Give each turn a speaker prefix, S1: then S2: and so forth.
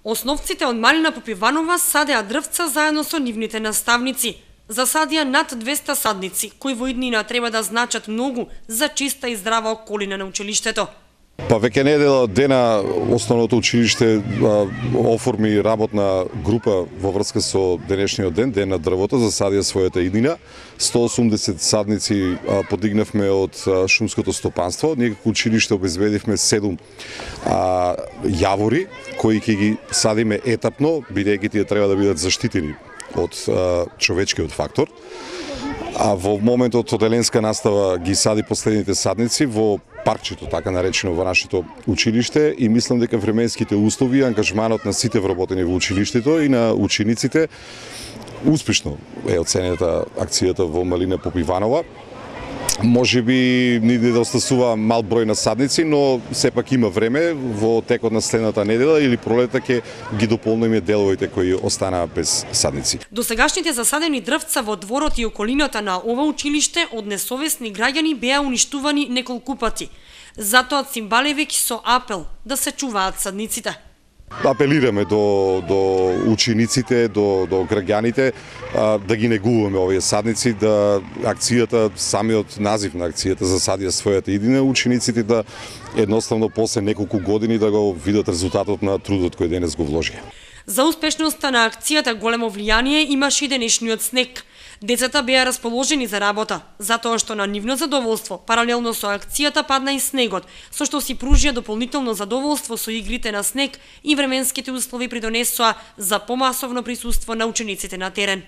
S1: Основците од Малина Попиванова садеа дрвца заедно со нивните наставници. Засадија над 200 садници, кои во иднина треба да значат многу за чиста и здрава околина на училиштето.
S2: Па веќе недела дена основното училиште оформи работна група во врска со денешниот ден, Ден на дрвото, засадија својата иднина. 180 садници подигнавме од шумското стопанство. Ние како училиште обезбедивме 7 јавори кои ќе ги садиме етапно, бидејќи тие треба да бидат заштитени од човечкиот фактор. А во моментот оделенска настава ги сади последните садници во паркчето, така наречено, во нашето училиште, и мислам дека временските услови, ангажманот на сите вработени во училиштето и на учениците успешно е оценета акцијата во Малина Попиванова. Може би ни недостасува мал број на садници, но сепак има време во текот на следната недела или пролета ќе ги дополниме деловите кои останаа без садници.
S1: Досегашните засадени дрвца во дворот и околината на ова училиште од несовесни граѓани беа уништувани неколку пати. Затоа Цимбалевиќ со апел да се чуваат садниците.
S2: Апелираме до учениците, до граѓаните да ги негуваме овие садници, да акцијата, самиот назив на акцијата засадија својата иднина, учениците да едноставно после неколку години да го видат резултатот на трудот кој денес го вложија.
S1: За успешноста на акцијата големо влијание имаше и денешниот снег. Децата беа расположени за работа, затоа што на нивно задоволство, паралелно со акцијата падна и снегот, со што си пружија дополнително задоволство со игрите на снег и временските услови придонесоа за помасовно присуство на учениците на терен.